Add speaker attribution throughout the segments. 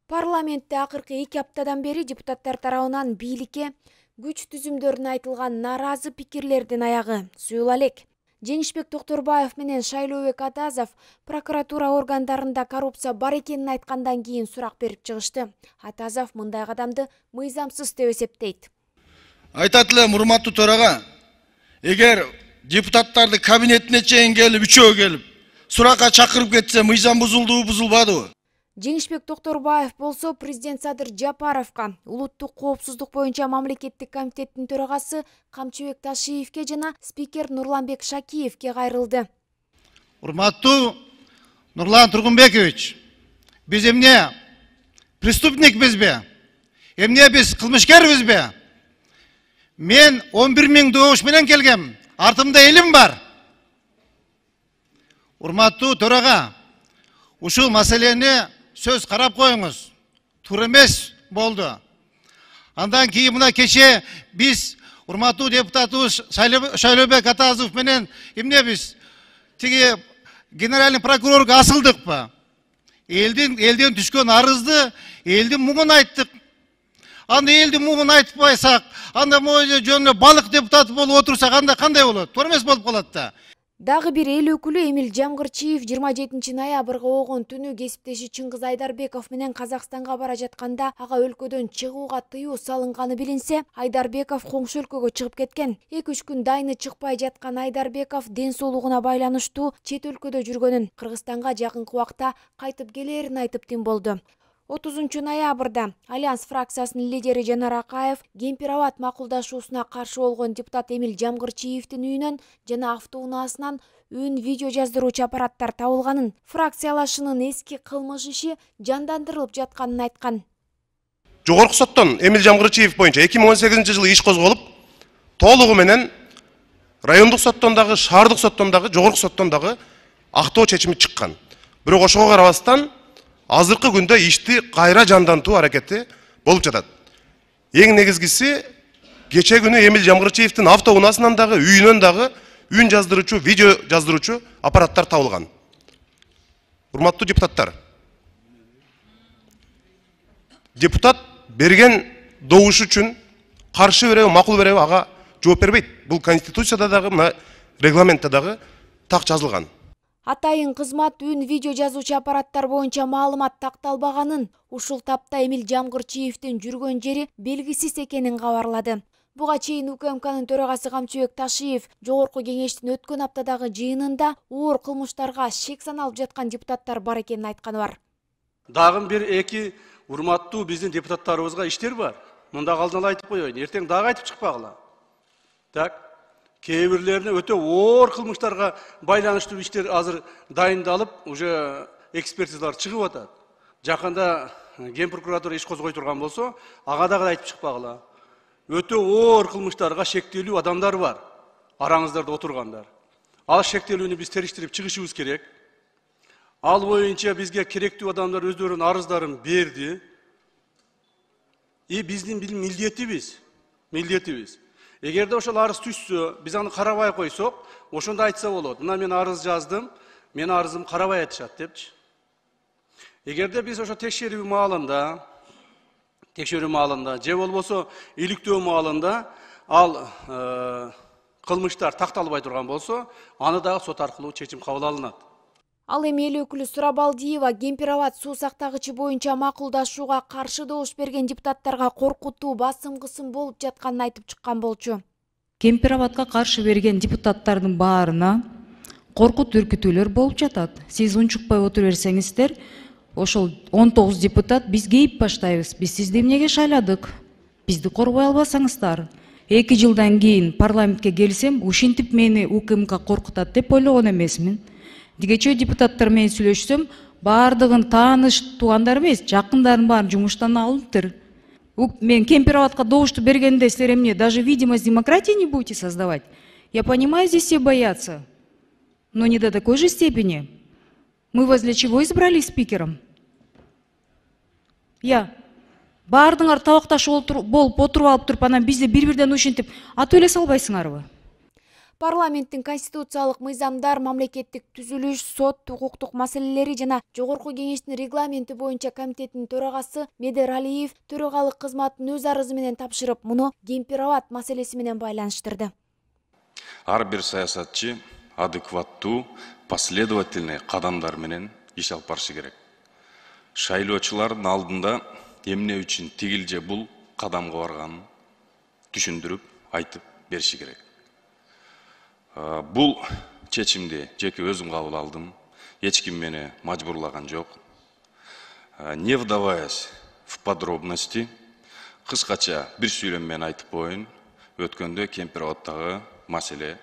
Speaker 1: Парламентте акыркы 2 аптадан бери депутаттар тарабынан бийликке күч түзүмдөрүнө айтылган наразы пикирлердин аягы суюла элек. Женишбек Токторбаев менен Шайлообек Атазов прокуратура органдарында коррупция бар экенин айткандан кийин сурак берип чыгышты. Атазов мындай кадамды мыйзамсыз деп эсептейт.
Speaker 2: Айтат элем, урматтуу төрага, эгер депутаттарды кабинетине чейин келип, үчөө келип, суракка чакырып кетсе, мыйзам бузулдубу, бузулбадыбы?
Speaker 1: Женишбек Токторбаев болсо президент Садыр Жапаровго, улуттук коопсуздук боюнча мамлекеттик комитеттин төрагасы Камчыбек Ташиевке жана спикер Нурланбек Шакиевке кайрылды.
Speaker 3: Урматтуу Нурлан Тургунбекович, биз эмне преступникпизби? Эмне биз кылмышкербизби? Мен 11 000 добуш менен келгем. Артымда элим бар. Урматтуу төрага, ушул маселени сөз карап коюңуз. Туура эмес болду. Андан кийин мына кече биз урматтуу депутатыбыз Шайлообек Атазов менен эмне биз тиги генеральный прокурорго асылдыкпы? Элден түшкөн арызды элдин муңун айттык. Анда элдин муңун айтпайсак, анда мойы жөнүнө балык депутаты болуп отурсак, анда кандай болот? Туура эмес болуп калат да.
Speaker 1: Дагы бир эл өкүлү Эмил Жамгырчиев 27 ноябрга огон түнү кесиптеши Чыңгыз Айдарбеков менен Казакстанга бара жатканда ага өлкөдөн чыгууга тыюу салынганы билинсе, Айдарбеков коңшу өлкөгө чыгып кеткен. 2-3 күн дайыны чыкпай жаткан Айдарбеков ден соолугуна байланыштуу чет өлкөдө жүргөнүн, Кыргызстанга жакынкы убакта кайтып келерин айтып тим болду. 30 ноябрда Альянс фракциясынын лидери Жанар Акаев Кемпир-Абад макулдашуусуна каршы болгон депутат Эмил Жамгырчиевдин үйүнөн жана автоунаасынан үн видео жаздыруучу аппараттар табылганын, фракциялашынын эски кылмыш иши жандандырылып жатканын айткан.
Speaker 4: Жогорку соттон Эмил Жамгырчиев боюнча 2018 жылы иш козголуп, толугу менен райондук соттон дагы, шаардык соттон дагы, жогорку соттон дагы актоо чечими чыккан. Бирок ошого карабастан азыркы күндө ишти кайра жандантуу аракети болуп жатат. Эң негизгиси, кече күнү Эмил Жамгырчиевдин автоунаасынан дагы, үйүнөн дагы үн жаздыруучу, видео жаздыруучу аппараттар табылган. Урматтуу депутаттар, депутат берген добуш үчүн каршы береби, макул береби ага жооп бербейт. Бул Конституцияда дагы, мына регламентте дагы так жазылган.
Speaker 1: Атайын кызмат үн видео жазуучу аппараттар боюнча маалымат такталбаганын, ушул тапта Эмил Жамгырчиевдин жүргөн жери белгисиз экенин кабарлады. Буга чейин УКМКнын төрагасы Камчыбек Ташиев жогорку кеңештин өткөн аптадагы жыйынында оор кылмыштарга шек саналып жаткан депутаттар бар экенин айтканы бар.
Speaker 5: Дагы бир эки урматтуу биздин депутаттарыбызга иштер бар. Мында алдын ала айтып коеюн, эртең дагы айтып чыкпагыла. Так. Кээ бирлерине өтө оор кылмыштарга байланыштуу иштер азыр дайындалып, уже экспертизалар чыгып атат. Жакында Ген прокуратура иш козгой турган болсо, ага дагы айтып чыкпагыла. Өтө оор кылмыштарга шектелүү адамдар бар, араңыздарда отургандар. Ал шектелүүнү биз териштирип чыгышыбыз керек. Ал боюнча бизге керектүү адамдар өздөрүнүн арыздарын берди. Биздин милдетибиз. Эгерде ошол арыз түшсө, биз аны карабай койсок, ошондо айтса болот. Мына мен арыз жаздым, мен арызым карабай атышат депчи. Эгерде биз ошо текшерүү маалында, же болбосо иликтөө маалында ал кылмыштар такталбай турган болсо, аны дагы сот аркылуу чечим кабыл алынат.
Speaker 1: Ал эми эл өкүлү Сурабалдиева Кемпир-Абад суу сактагычы боюнча макулдашууга каршы добуш берген депутаттарга коркутуу, басым-кысым болуп жатканын айтып чыккан болчу.
Speaker 6: Кемпир-Абадка каршы берген депутаттардын баарына коркут үркүтүүлөр болуп жатат. Сиз унчукпай отура берсеңиздер, ошол 19 депутат биз кейип баштайбыз. Биз сизди эмнеге шайладык? Бизди коргой албасаңыздар. 2 жылдан кийин парламентке келсем, ушинтип мени УКМК коркутат деп ойлогон эмесмин. Дигече депутаттар менен сүйлөшсөм, баардыгын тааныш туугандар эмес, жакындарын баарын жумуштан алыптыр. Мен Кемпир-Абадка добушту бергенде силер эмне, даже видимость демократии не будете создавать? Я понимаю, здесь все боятся, но не до такой же степени. Мы вас для чего избрали спикером? Баардыгыңар табакташып болуп отуруп алып туруп, анан бизди бири-бирден ушинтип атып эле салбайсыңарбы?
Speaker 1: Парламенттин конституциялык мыйзамдар, мамлекеттик түзүлүш, сот, укуктук маселелери жана Жогорку кеңештин регламенти боюнча комитеттин төрагасы Медер Алиев төрагалык кызматын өз арызы менен тапшырып, муну Кемпир-Абад маселеси менен байланыштырды.
Speaker 7: Ар бир саясатчы адекваттуу, последовательный кадамдар менен иш алып барышы керек. Шайлоочулардын алдында эмне үчүн тигил же бул кадамга барганын түшүндүрүп, айтып бериши керек. Бул чечимди жеке өзүм кабыл алдым. Эч ким мени мажбурлаган жок. Не вдаваясь в подробности, кыскача бир сүйлөм менен айтып коеюн, өткөндө Кемпир-Абаддагы маселе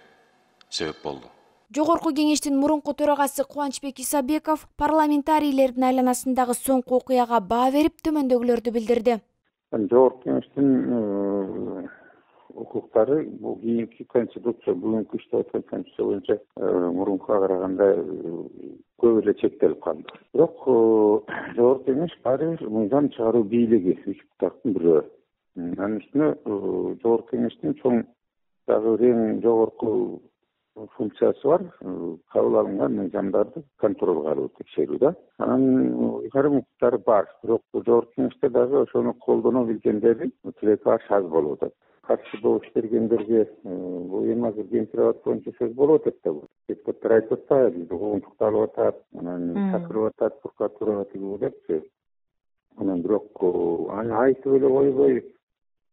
Speaker 7: себеп болду.
Speaker 1: Жогорку кеңештин мурунку төрагасы Кубанычбек Исабеков парламентарийлердин айланасындагы соңку окуяга баа берип, төмөндөгүлөрдү билдирди.
Speaker 8: Жогорку кеңештин укуктары бул кийинки конституция, бүгүнкү иштеп аткан конституция боюнча мурункуга караганда көп эле чектелип калды. Бирок Жогорку кеңеш баары бир мыйзам чыгаруу бийлиги, үч бутактын бирөө. Анын үстүнө Жогорку кеңештин чоң дагы эң жогорку функциясы бар, кабыл алынган мыйзамдарды контролго алуу, текшерүү да. Анын айрым укуктары бар, бирок Жогорку кеңеште дагы ошону колдоно билгендери тилеки аз болуп атат. Каршы добуш бергендерге бул эми азыр Кемпир-Абад боюнча сөз болуп атат да. Депутаттар айтып атпайбы, бизди куугунтукталып атат, анан чакырып атат прокуратурага тигүү депчи. Анан бирок аны айтып эле койбой,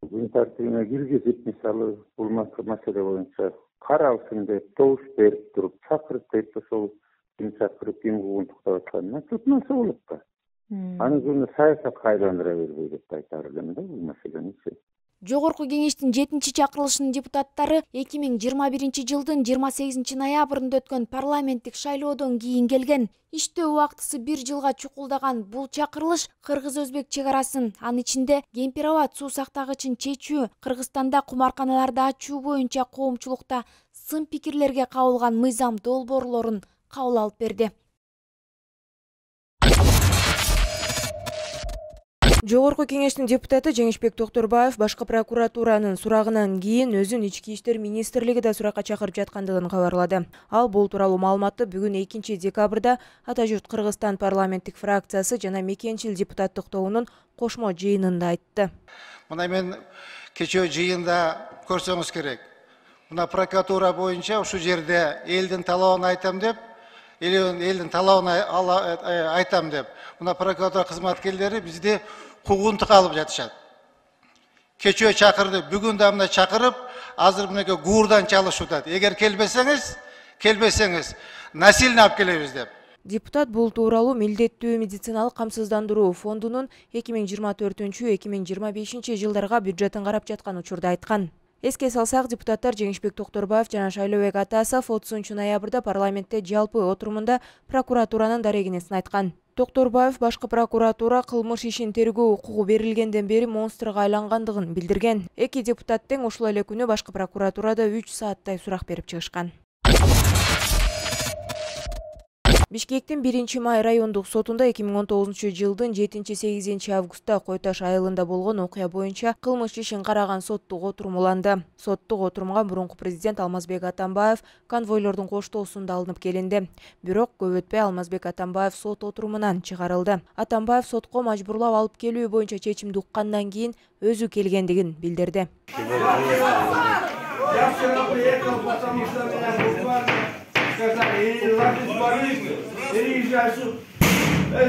Speaker 8: күн тартибине киргизип, мисалы бул маселе боюнча каралсын деп, добуш берип туруп, чакырып деп, ошол ким чакырып, ким куугунтуктап атканына көп нерсе болот да. Аны күнү саясатка айландыра бербей деп айтар элем да бул маселени.
Speaker 1: Жогорку кеңештин 7-чи чакырылышынын депутаттары 2021-жылдын 28 ноябрында өткөн парламенттик шайлоодон кийин келген. Иштөө убактысы 1 жылга чукулдаган бул чакырылыш кыргыз-өзбек чек арасын, анын ичинде Кемпир-Абад суу сактагычын чечүү, Кыргызстанда кумарканаларды ачуу боюнча коомчулукта сын пикирлерге кабылган мыйзам долбоорлорун кабыл алып берди.
Speaker 9: Жогорку кеңештин депутаты Жеңишбек Токторбаев башкы прокуратуранын сурагынан кийин өзүн Ички иштер министрлиги да суракка чакырып жаткандыгын кабарлады. Ал бул тууралуу маалыматты бүгүн 2 декабрда Ата журт Кыргызстан парламенттик фракциясы жана Мекенчил депутаттык тобунун кошмо жыйынында айтты.
Speaker 3: Мына мен кечээ жыйында көрсөңүз керек. Мына прокуратура боюнча ушул жерде элдин талабын айтам деп, элдин талабын айтам деп, мына прокуратура кызматкерлери бизди куугунтук алып жатышат. Кечөө чакырды, бүгүн да мына чакырып, азыр мынакей гуурдан чалышып атат. Эгер келбесеңиз, насилно алып келебиз деп.
Speaker 9: Депутат бул тууралуу милдеттүү медициналык камсыздандыруу фондунун 2024-2025 жылдарга бюджетин карап жаткан учурда айткан. Эске салсак, депутаттар Жеңишбек Токторбаев жана Шайлообек Атасов 30 ноябрда парламентте жалпы отурумунда прокуратуранын дарегинесин айткан. Токторбаев башкы прокуратура кылмыш ишин тергөө укугу берилгенден бери монстрга айлангандыгын билдирген. Эки депутат тең ушул эле күнү башкы прокуратурада 3 сааттай сурак берип чыгышкан. Бишкектин 1-май райондук сотунда 2019 жылдын 7-8 августта Кой Таш айылында болгон окуя боюнча кылмыш ишин караган соттук отурум уланды. Соттук отурумга мурунку президент Алмазбек Атамбаев конвойлордун коштоосунда алынып келинди. Бирок көп өтпөй Алмазбек Атамбаев сот отурумунан чыгарылды. Атамбаев сотко мажбурлап алып келүү боюнча чечимди уккандан кийин өзү келгендигин билдирди.
Speaker 10: Переезжай суд.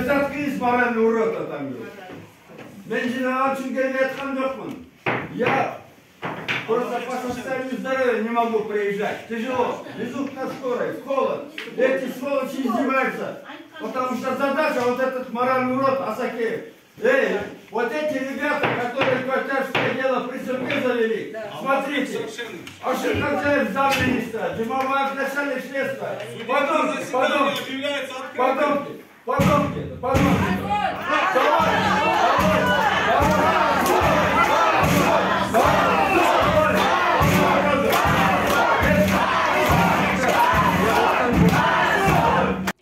Speaker 10: Заткнись, моральный урод там. Мен жинаған үшін келіп жатқан жоқпын. Я просто по состоянию здоровья не могу приезжать. Тяжело. Везут на скорой, в холод. Эти сволочи издеваются. Потому что задача вот этот моральный урод Асакеев. Эй, вот эти ребята, которые квартирское дело при суде завели, смотрите, Аширханцаев замминистра, Джумабаев начальник следствия, подонки.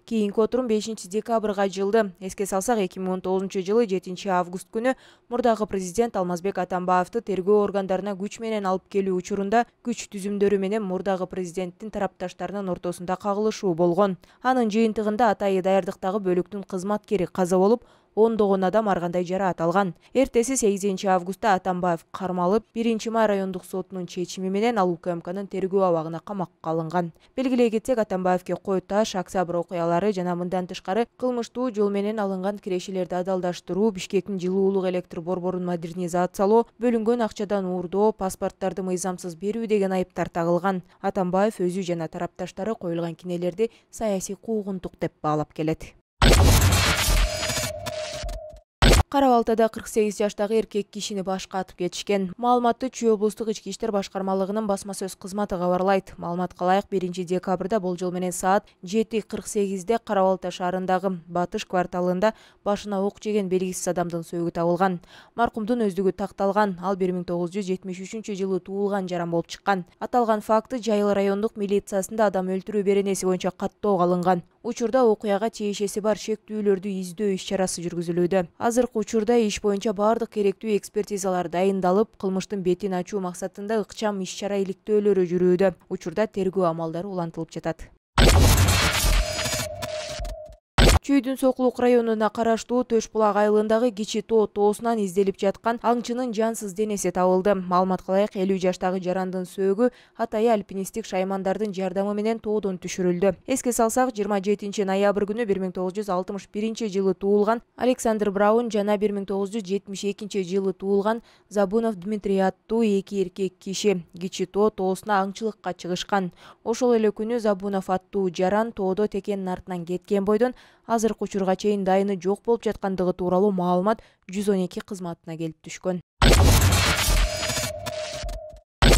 Speaker 9: Кийинки Өлкө отурум 5 декабрга жылды. Эске салсак, 2019 жылы 7 август күнү мурдагы президент Алмазбек Атамбаевди тергөө органдарына күч менен алып келүү учурунда күч түзүмдөрү менен мурдагы президенттин тарапташтарынын ортосунда кагылышуу болгон. Анын жыйынтыгында атайы даярдыктагы бөлүктүн кызматкери каза болуп, ондогон адам ар кандай жараат алган. Эртеси 8 августта Атамбаев кармалып, 1 май райондук сотунун чечими менен ал УКМКнын тергөө абагына камакка алынган. Белгилей кетсек, Атамбаевге Кой Таш, Октябрь окуялары жана мындан тышкары кылмыштуу жол менен алынган кирешелерди адалдаштыруу, Бишкектин жылуулук электр борборун модернизациялоо, бөлүнгөн акчадан уурдоо, паспорттарды мыйзамсыз берүү деген айыптар тагылган. Атамбаев өзү жана тарапташтары коюлган кинелерди саясий куугунтук деп баалап келет. Кара Балтада 48 жаштагы эркек кишини башка атып кетишкен. Маалыматты Чүй облустук ички иштер башкармалыгынын басма сөз кызматы кабарлайт. Маалыматка ылайык 1 декабрда болжол менен саат 7:48 Кара Балта шаарындагы Батыш кварталында башына ок жеген белгисиз адамдын сөөгү табылган. Маркумдун өздүгү такталган. Ал 1973 жылы туулган жаран болуп чыккан. Аталган факты Жайыл райондук милициясында адам өлтүрүү беренеси боюнча каттоого алынган. Учурда окуяга тиешеси бар шектүүлөрдү издөө иш-чарасы жүргүзүлүүдө. Азыркы учурда иш боюнча баардык керектүү экспертизалар дайындалып, кылмыштын бетин ачуу максатында ыкчам иш-чара иликтөөлөрү жүрүүдө. Учурда тергөө амалдары улантылып жатат. Чүйдүн Сокулук районуна караштуу Төш булак айылындагы Кичи Тоо тоосунан изделип жаткан аңчынын жансыз денеси табылды. Маалыматка ылайык 50 жаштагы жарандын сөөгү атайы альпинисттик шаймандардын жардамы менен тоодон түшүрүлдү. Эске салсак, 27 ноябрь күнү 1961 жылы туулган Александр Браун жана 1972 жылы туулган Забунов Дмитрий аттуу эки эркек киши Кичи Тоо тоосуна аңчылыкка чыгышкан. Ошол эле күнү Забунов аттуу жаран тоодо текенин артынан кеткен бойдон азыркы учурга чейин дайыны жок болуп жаткандыгы тууралуу маалымат 112 кызматына келип түшкөн.